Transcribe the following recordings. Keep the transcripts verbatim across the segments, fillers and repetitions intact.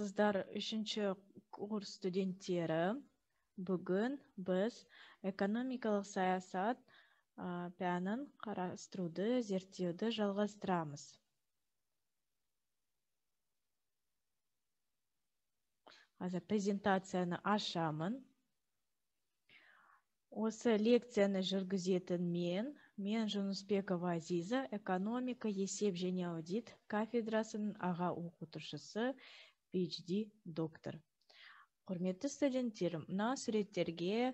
Саламатсыздар, үшінші курс студенттері. Бүгін біз экономикалық саясат пәнін қарастыруды, зерттеуді жалғастырамыз. Қазір презентацияны ашамын. Осы лекцияны жүргізетін мен, мен Жунусбекова Азиза, экономика, есеп және аудит кафедрасының аға оқытушысы, пи эйч ди доктор. Құрметті студенттерім, мына суреттерге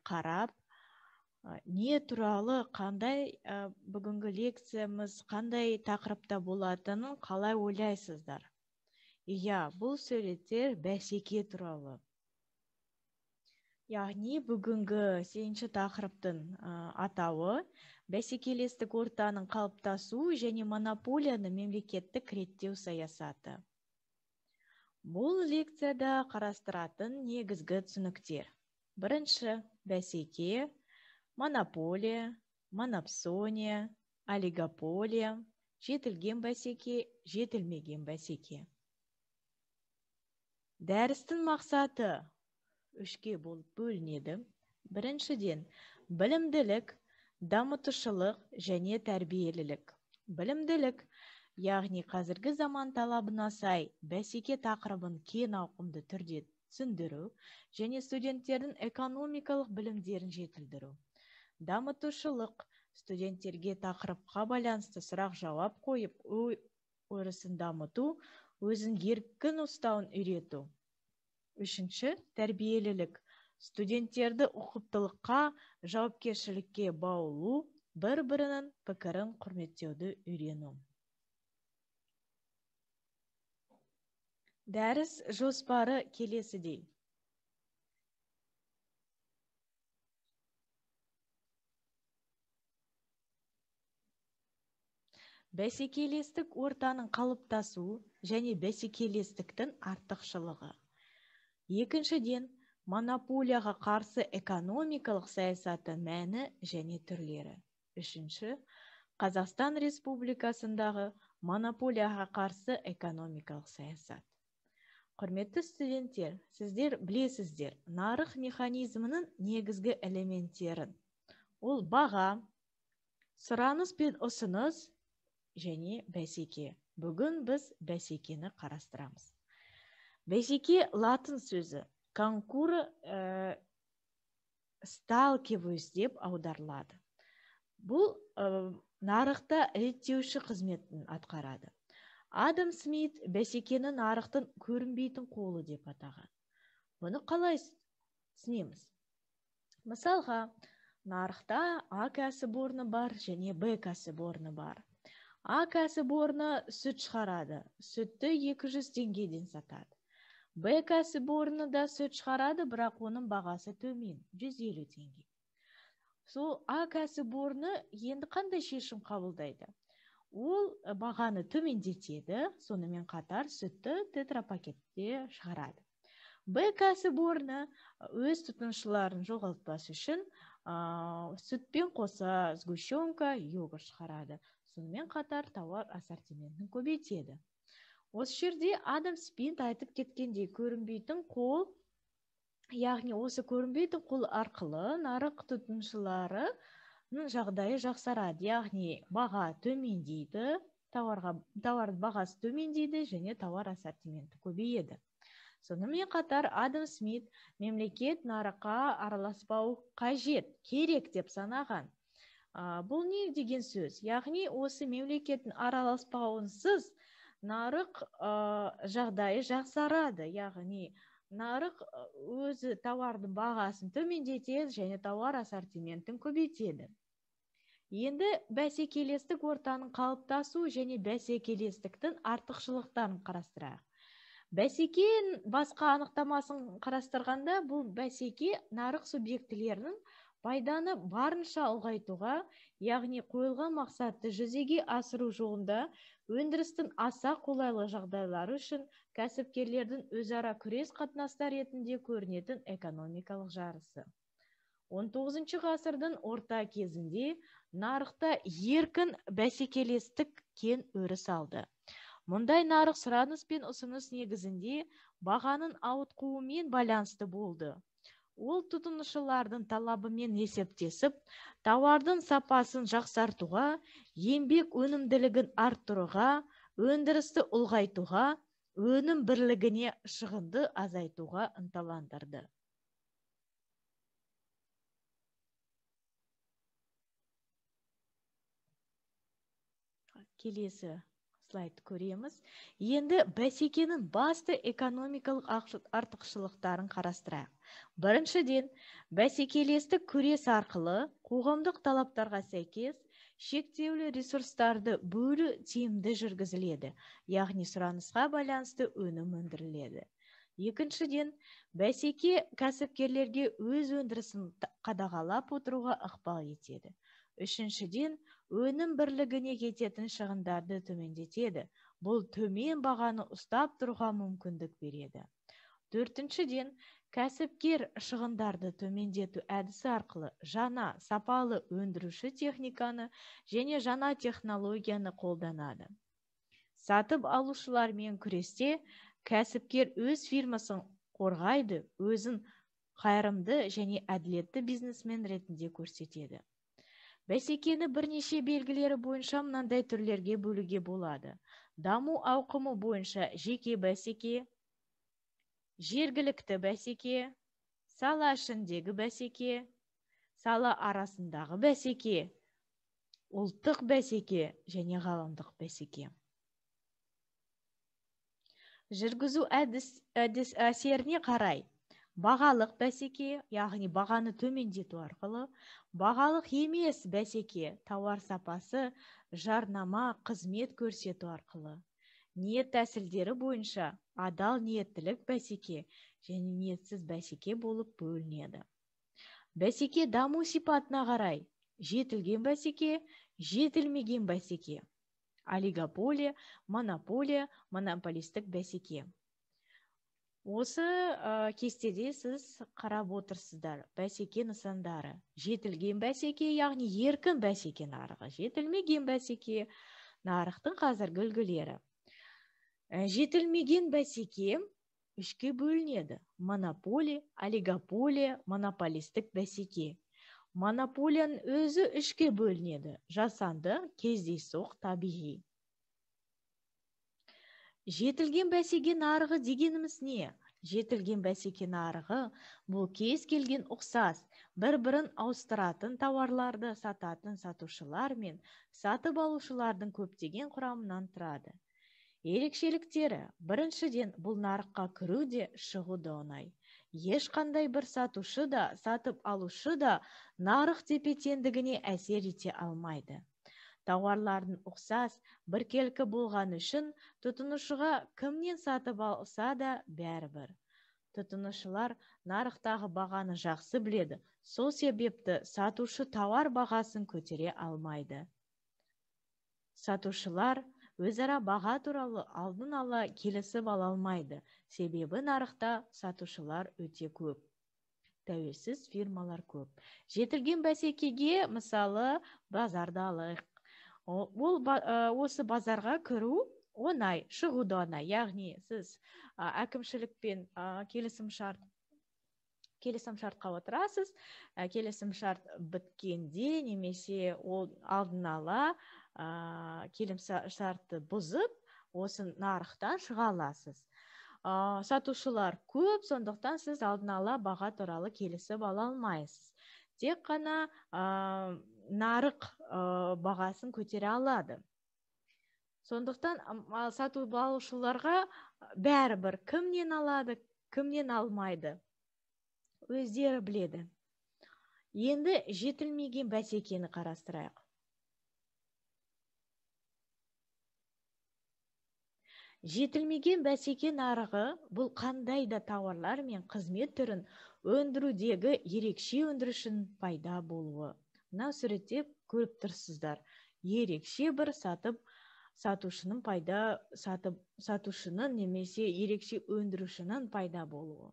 қарап, не туралы қандай бүгінгі лекциямыз қандай тақырыпта болатынын қалай ойлайсыздар? Иә, бұл суреттер бәсеке туралы. Яғни бүгінгі сегізінші тақырыптың атауы бәсекелестік ортаның қалыптасу және монополияны мемлекеттік реттеу саясаты. Бұл лекцияда қарастыратын негізгі түсініктер. Бірінші бәсеке, монополия, монопсония, олигополия, жетілген бәсеке, жетілмеген бәсеке. Дәрістің мақсаты үшке болып бөлінеді. Біріншіден, білімділік, дамытушылық және тәрбиелілік. Білімділік, яғни қазіргі заман талабына сай бәсеке тақырыбын кең ауқымды түрде түсіндіру және студенттердің экономикалық білімдерін жетілдіру. Дамытушылық, студенттерге тақырыпқа байланысты сұрақ жауап қойып, ой өрісін дамыту, өзін еркін ұстауын үйрету. Үшінші, тәрбиелілік. Студенттерді ұқыптылыққа, жауапкершілікке баулу, бір-бірінің пікірін құрметтеуді үйрену. Дәріс жоспары келесідей. Бәсекелестік ортаның қалыптасу және бәсекелестіктің артықшылығы. Екіншіден, монополияға қарсы экономикалық саясаты мәні және түрлері. Үшінші, Қазақстан Республикасындағы монополияға қарсы экономикалық саясат. Құрметті студенттер, сіздер білесіздер, нарық механизмінің негізгі элементтерін. Ол баға, сұраныс пен ұсыныс және бәсеке. Бүгін біз бәсекені қарастырамыз. Бәсеке латын сөзі, конкур сталкиваюсь деп аударылады. Бұл нарықта реттеуші қызметін атқарады. Адам Смит бәсекені нарықтың көрінбейтін қолы деп атаған. Бұны қалай түсінеміз? Мысалға, нарықта А кәсіпорны бар және Б кәсіпорны бар. А кәсіпорны сүт шығарады, сүтті екі жүз теңгеден сатады. Б кәсіпорны да сүт шығарады, бірақ оның бағасы төмен, жүз елу теңге. Сол А кәсіпорны енді қандай шешім қабылдайды? Ол бағаны төмендетеді, сонымен қатар сүтті тетрапакетте шығарады. Б кәсіпорны өз тұтынушыларын жоғалтпас үшін сүтпен қоса сгущенка, йогурт шығарады. Сонымен қатар тауар ассортиментін көбейтеді. Осы жерде Адам Смит айтып кеткендей, көрінбейтін қол, яғни осы көрінбейтін қол арқылы нарық тұтынушыларының жағдайы жақсарады, яғни баға төмендейді, тауардың бағасы төмендейді және тауар ассортименті көбейеді. Сонымен қатар Адам Смит мемлекет нарыққа араласпау қажет, керек деп санаған. Бұл не деген сөз? Яғни осы мемлекеттің араласпауынсыз нарық жағдайы жақсарады, яғни нарық өзі тауардың бағасын төмендетеді және тауар ассортиментін көбейтеді. Енді бәсекелестік ортаның қалыптасу және бәсекелестіктің артықшылықтарын қарастырайық. Бәсеке басқа анықтамасын қарастырғанда, бұл бәсеке нарық субъектілерінің пайданы барынша ұлғайтуға, яғни қойылған мақсатты жүзеге асыру жолында өндірістің аса қолайлы жағдайлары үшін кәсіпкерлердің өзара күрес қатынастар ретінде көрінетін экономикалық жарысы. он тоғызыншы ғасырдың орта кезінде нарықта еркін бәсекелестік кең өріс алды. Мұндай нарық сұраныс пен ұсыныс негізінде бағаның ауытқуымен байланысты болды. Ол тұтынушылардың талабымен есептесіп, тауардың сапасын жақсартуға, еңбек өнімділігін арттыруға, өндірісті ұлғайтуға, өнім бірлігіне шығынды азайтуға ынталандырды. Келесі слайд көреміз. Енді бәсекенің басты экономикалық артықшылықтарын қарастырайық. Біріншіден, бәсекелестік күрес арқылы қоғамдық талаптарға сәйкес шектеулі ресурстарды бөлу тиімді жүргізіледі, яғни сұранысқа байланысты өнім өндіріледі. Екіншіден, бәсеке кәсіпкерлерге өз өндірісін қадағалап отыруға ықпал етеді. Үшіншіден, өнім бірлігіне кететін шығындарды төмендетеді. Бұл төмен бағаны ұстап тұруға мүмкіндік береді. Төртіншіден, кәсіпкер шығындарды төмендету әдісі арқылы жаңа сапалы өндіруші техниканы және жаңа технологияны қолданады. Сатып алушылармен күресте кәсіпкер өз фирмасын қорғайды, өзін қайырымды және әділетті бизнесмен ретінде көрсетеді. Бәсекені бірнеше белгілері бойынша мынандай түрлерге бөлуге болады. Даму ауқымы бойынша жеке бәсеке, жергілікті бәсеке, сала ішіндегі бәсеке, сала арасындағы бәсеке, ұлттық бәсеке және ғаламдық бәсеке. Жүргізу әдіс, әдіс әсеріне қарай бағалық бәсеке, яғни бағаны төмендету арқылы, бағалық емес бәсеке, тауар сапасы, жарнама, қызмет көрсету арқылы, ниет тәсілдері бойынша адал ниеттілік бәсеке және ниетсіз бәсеке болып бөлінеді. Бәсеке даму сипатына қарай жетілген бәсеке, жетілмеген бәсеке, олигополия, монополия, монополистік бәсеке. Осы ә, кестеде сіз қарап отырсыздар. Бәсеке нысандары. Жетілген бәсеке, яғни еркін бәсеке нарығы. Жетілмеген бәсеке нарықтың қазіргі үлгілері. Ә, жетілмеген бәсеке үшке бөлінеді. Монополия, олигополия, монополистік бәсеке. Монополияның өзі үшке бөлінеді. Жасанды, кездейсоқ, табиғи. Жетілген бәсеке нарығы дегеніміз не? Жетілген бәсеке нарығы бұл кез келген ұқсас, бір-бірін ауыстыратын тауарларды сататын сатушылар мен сатып алушылардың көптеген құрамынан тұрады. Ерекшеліктері: біріншіден, бұл нарыққа кіру де, шығу да оңай. Ешқандай бір сатушы да, сатып алушы да нарық тепе-теңдігіне әсер ете алмайды. Тауарлардың ұқсас, біркелкі болған үшін тұтынушыға кімнен сатып алса да бәрібір. Тұтынушылар нарықтағы бағаны жақсы біледі, сол себепті сатушы тауар бағасын көтере алмайды. Сатушылар өзара баға туралы алдын ала келісіп ала алмайды, себебі нарықта сатушылар өте көп. Тәуелсіз фирмалар көп. Жетілген бәсекеге мысалы базарды алайық. Ол осы базарға кіру оңай, шығу да оңай. Яғни сіз әкімшілікпен келісім шарт келісім шартқа отырасыз, келісім шарт біткенде немесе ол алдын ала келісім шартты бұзып, осы нарықтан шыға аласыз. Сатушылар көп, сондықтан сіз алдын ала баға туралы келісіп ала алмайсыз. Тек қана нарық бағасын көтере алады. Сондықтан сатып алушыларға бәрібір кімнен алады, кімнен алмайды, өздері біледі. Енді жетілмеген бәсекені қарастырайық. Жетілмеген бәсеке нарығы бұл қандай да тауарлар мен қызмет түрін өндірудегі ерекше өндірушінің пайда болуы. Мына суретте көріп тұрсыздар. Ерекше бір сатып сатушының пайда сатып сатушының немесе ерекше өндірушінің пайда болуы.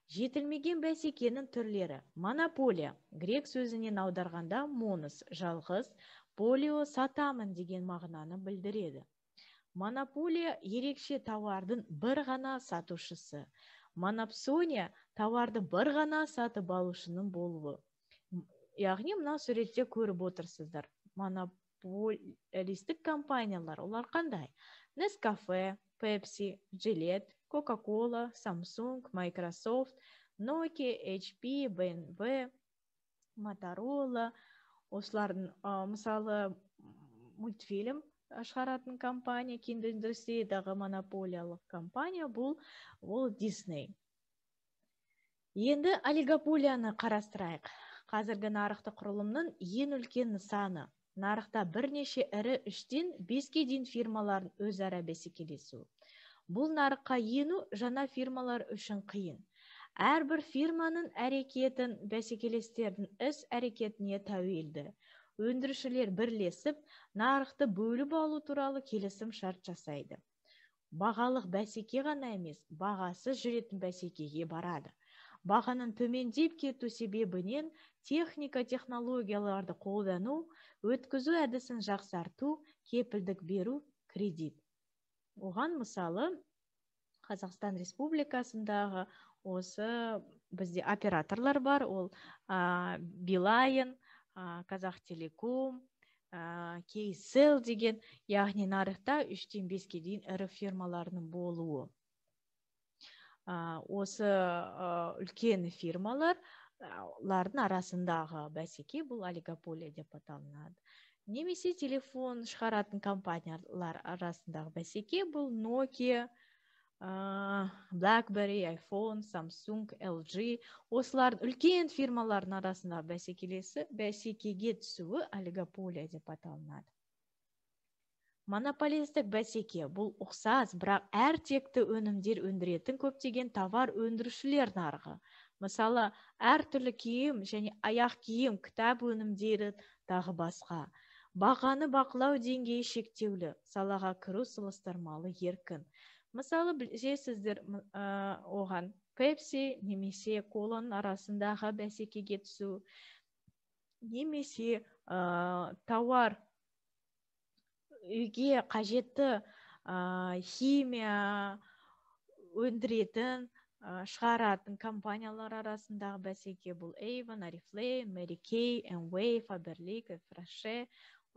Жетілмеген бәсекенің түрлері: монополия, грек сөзінен аударғанда монос, жалғыз, полио сатамын деген мағынаны білдіреді. Монополия ерекше тауардың бір ғана сатушысы. Монопсония тауарды бір ғана сатып алушының болуы. Яғни мына суретте көріп отырсыздар. Монополистік компаниялар олар қандай? Nescafe, Pepsi, Gillette, Coca-Cola, Samsung, Microsoft, Nokia, эйч пи, бэ эм вэ, Motorola. Осылардың мысалы мультфильм шығаратын компания, киноиндустриядағы монополиялық компания бұл ол Disney. Енді олигополияны қарастырайық. Қазіргі нарықтық құрылымның ең үлкен нысаны. Нарықта бірнеше ірі үштен беске дейін фирмалардың өзара бәсекелесуі. Бұл нарыққа ену жаңа фирмалар үшін қиын. Әрбір фирманың әрекетін бәсекелестердің іс әрекетіне тәуелді. Өндірушілер бірлесіп, нарықты бөліп алу туралы келісім шарт жасайды. Бағалық бәсеке ғана емес, бағасы жүретін бәсекеге барады. Бағаның төмендеп кету себебінен техника технологияларды қолдану, өткізу әдісін жақсарту, кепілдік беру, кредит. Оған мысалы Қазақстан Республикасындағы осы бізде операторлар бар, ол Билайн, Казахтелеком, Кейсел деген, яғни нарықта үштен беске дейін ірі фирмаларының болуы. Осы үлкен фирмалардың арасындағы бәсеке бұл олигополия деп аталынады. Немесе телефон шығаратын компаниялар арасындағы бәсеке бұл Nokia, BlackBerry, iPhone, Samsung, эл джи. Осылардың үлкен фирмалардың арасындағы бәсекелесі бәсекеге түсуі олигополия деп аталынады. Монополистік бәсеке бұл ұқсас, бірақ әр текті өнімдер өндіретін көптеген товар өндірушілер нарығы. Мысалы, әр түрлі киім және аяқ киім, кітап өнімдері тағы басқа. Бағаны бақылау деңгейі шектеулі, салаға кіру салыстырмалы еркін. Мысалы, білесіздер оған Pepsi немесе Коланың арасындағы бәсекеге түсу, немесе тауар үйге қажетті химия өндіретін, шығаратын компаниялар арасындағы бәсеке бұл Avon, Oriflame, Mary Kay, Amway, Faberlic, Frashe.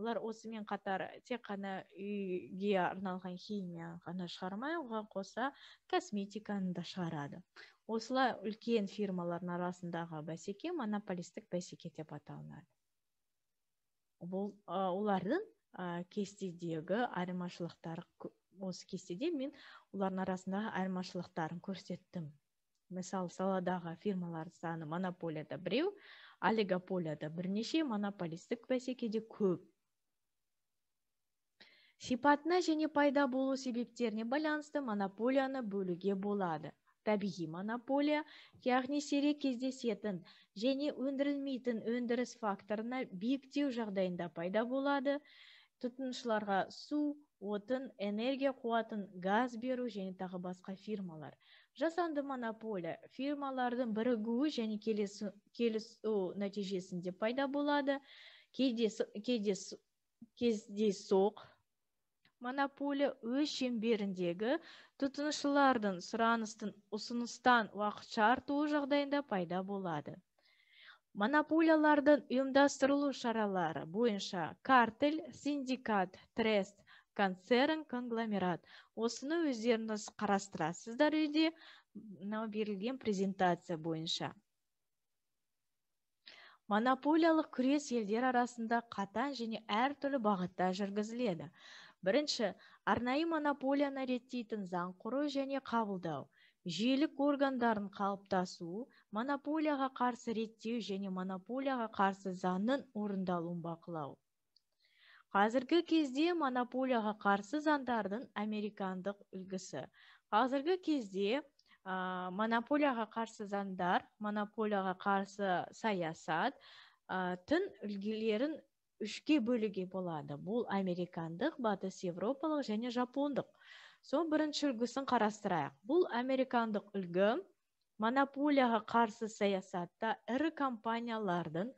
Олар осымен қатар тек қана үйге арналған химия ғана шығармай, оған қоса косметиканы да шығарады. Осылай үлкен фирмалардың арасындағы бәсеке монополистік бәсеке деп аталынады. Бұл олардың кестедегі айырмашылықтары, осы кестеде мен олардың арасындағы айырмашылықтарын көрсеттім. Мысалы, саладағы фирмалар саны монополияда біреу, олигополияда бірнеше, монополистік бәсекеде көп. Сипатына және пайда болу себептеріне байланысты монополияны бөлуге болады. Табиғи монополия, яғни сирек кездесетін және өндірілмейтін өндіріс факторына биіктеу жағдайында пайда болады. Тұтынушыларға су, отын, энергия қуатын, газ беру және тағы басқа фирмалар. Жасанды монополия фирмалардың бірігуі және келісу нәтижесінде пайда болады. Кездейсоқ монополия өз шеңберіндегі тұтынушылардың сұраныстың ұсыныстан уақытша артуы жағдайында пайда болады. Монополиялардың ұйымдастырылу шаралары бойынша картель, синдикат, трест, концерн, конгломерат. Осыны өздеріңіз қарастырасыздар үйде берілген презентация бойынша. Монополиялық күрес елдер арасында қатаң және әртүрлі бағытта жүргізіледі. Бірінші, арнайы монополияны реттейтін заң құру және қабылдау. Жүйелік органдардың қалыптасуы, монополияға қарсы реттеу және монополияға қарсы заңның орындалуын бақылау. Қазіргі кезде монополияға қарсы заңдардың американдық үлгісі. Қазіргі кезде монополияға қарсы заңдар, монополияға қарсы саясат тың үлгілерін үшке бөлуге болады. Бұл американдық, батыс европалық және жапондық. Сол бірінші үлгісін қарастырайық. Бұл американдық үлгі монополияға қарсы саясатта ірі компаниялардың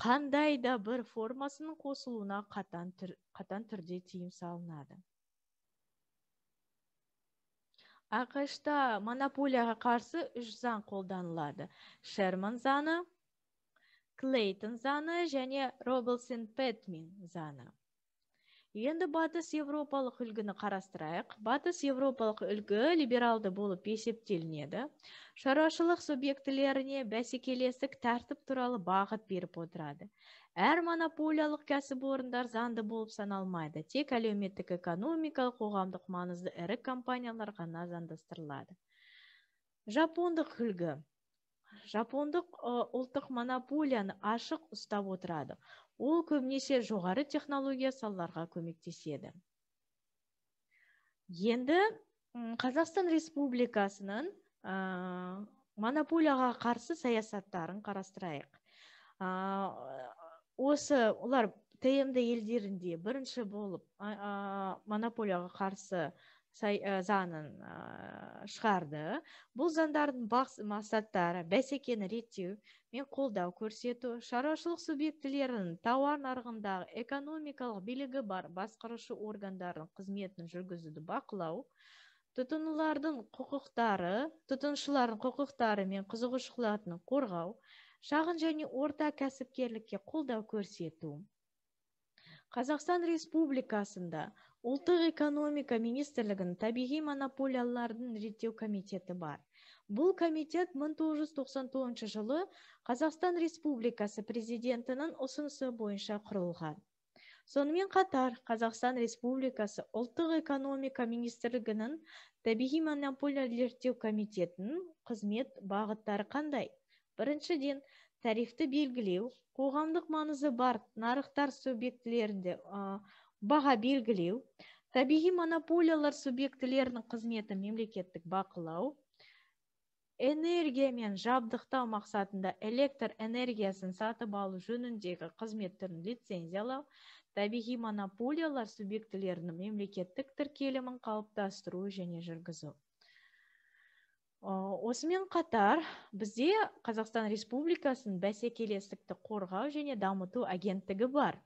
қандай да бір формасының қосылуына қатаң, түр, қатаң түрде тыйым салынады. ақш-та монополияға қарсы үш заң қолданылады. Шерман заңы, Клейтон заңы және Робинсон-Пэтмен заңы. Енді батыс европалық үлгіні қарастырайық. Батыс европалық үлгі либералды болып есептелінеді. Шаруашылық субъектілеріне бәсекелестік тәртіп туралы бағыт беріп отырады. Әр монополиялық кәсіпорындар заңды болып саналмайды. Тек әлеуметтік экономикалық қоғамдық маңызды ірі компаниялар ғана заңдастырылады. Жапондық үлгі. Жапондық ұлттық монополияны ашық ұстап отырады. Ол көбінесе жоғары технология салаларға көмектеседі. Енді Қазақстан Республикасының монополияға қарсы саясаттарын қарастырайық. Осы олар тмд елдерінде бірінші болып монополияға қарсы заңын шығарды. Бұл заңдардың басты мақсаттары бәсекені реттеу мен қолдау көрсету, шаруашылық субъектілерінің тауар нарығындағы экономикалық билігі бар басқарушы органдардың қызметін жүргізуді бақылау, тұтынушылардың құқықтары, тұтынушылардың құқықтары мен қызығушылықтарын қорғау, шағын және орта кәсіпкерлікке қолдау көрсету. Қазақстан Республикасында Ұлттық экономика министрлігінің табиғи монополиялардың реттеу комитеті бар. Бұл комитет мың тоғыз жүз тоқсан тоғызыншы жылы Қазақстан Республикасы президентінің ұсынысы бойынша құрылған. Сонымен қатар Қазақстан Республикасы Ұлттық экономика министрлігінің табиғи монополияларды реттеу комитетінің қызмет бағыттары қандай? Біріншіден, тарифті белгілеу, қоғамдық маңызы бар нарықтар субъектілерінде баға белгілеу, табиғи монополиялар субъектілерінің қызметін мемлекеттік бақылау, энергия мен жабдықтау мақсатында электр энергиясын сатып алу жөніндегі қызметтерін лицензиялау, табиғи монополиялар субъектілерінің мемлекеттік тіркелімін қалыптастыру және жүргізу. Осымен қатар бізде Қазақстан Республикасының бәсекелестікті қорғау және дамыту агенттігі бар.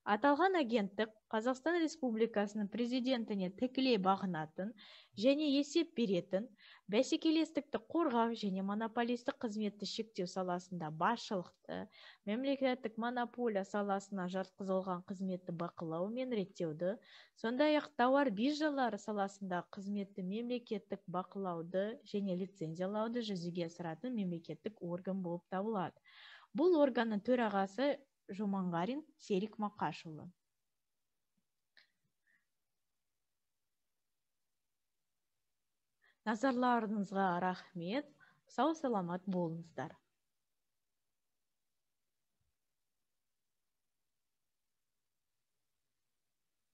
Аталған агенттік Қазақстан Республикасының президентіне тікелей бағынатын және есеп беретін, бәсекелестікті қорғау және монополистік қызметті шектеу саласында басшылықты, мемлекеттік монополия саласына жатқызылған қызметті бақылау мен реттеуді, сондай-ақ тауар биржалары саласында қызметті мемлекеттік бақылауды және лицензиялауды жүзеге асыратын мемлекеттік орган болып табылады. Бұл органның төрағасы Жуманғарин Серик Мақашұлы. Назарларыңызға рахмет. Сау саламат болыңыздар.